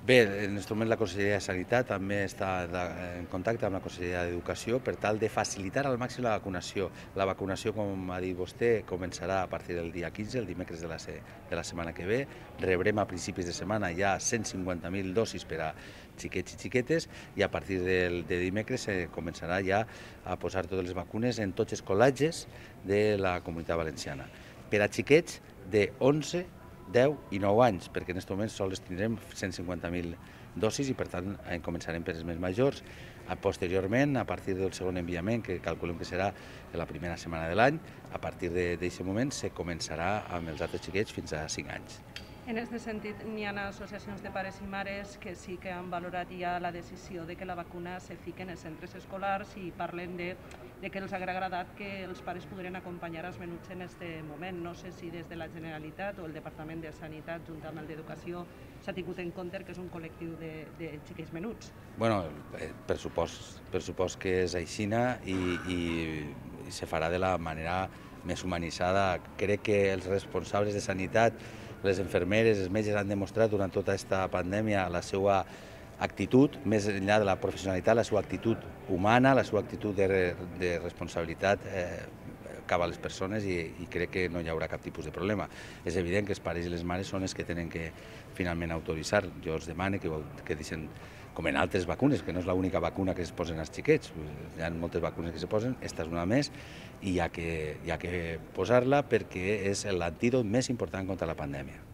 Bé, en aquest moment la Conselleria de Sanitat també està en contacte amb la Conselleria d'Educació per tal de facilitar al màxim la vacunació. La vacunació, com ha dit vostè, començarà a partir del dia 15, el dimecres de la setmana que ve. Rebrem a principis de setmana ja 150.000 dosis per a xiquets i xiquetes i a partir de dimecres començarà ja a posar totes les vacunes en tots els col·legis de la Comunitat Valenciana. Per a xiquets de 11, 10 i 9 anys, perquè en aquest moment sols tindrem 150.000 dosis i per tant començarem per els més majors. Posteriorment, a partir del segon enviament, que calculem que serà la primera setmana de l'any, a partir d'aquest moment se començarà amb els altres xiquets fins a 5 anys. En aquest sentit, n'hi ha associacions de pares i mares que sí que han valorat ja la decisió de que la vacuna se fiqui en els centres escolars i parlen de que els ha agradat que els pares podrien acompanyar els menuts en aquest moment. No sé si des de la Generalitat o el Departament de Sanitat, junt amb el d'Educació, s'ha tingut en compte que és un col·lectiu de xiquets menuts. Bueno, per supost que és aixina i se farà de la manera més humanitzada. Crec que els responsables de sanitat, les infermeres, els metges han demostrat durant tota aquesta pandèmia la seva actitud, més enllà de la professionalitat, la seva actitud humana, la seva actitud de responsabilitat cap a les persones i crec que no hi haurà cap tipus de problema. És evident que els pares i les mares són els que tenen que finalment autoritzar. Jo els demano que deixen, com en altres vacunes, que no és l'única vacuna que es posen als xiquets. Hi ha moltes vacunes que se posen, esta és una més, i hi ha que posar-la perquè és l'antídot més important contra la pandèmia.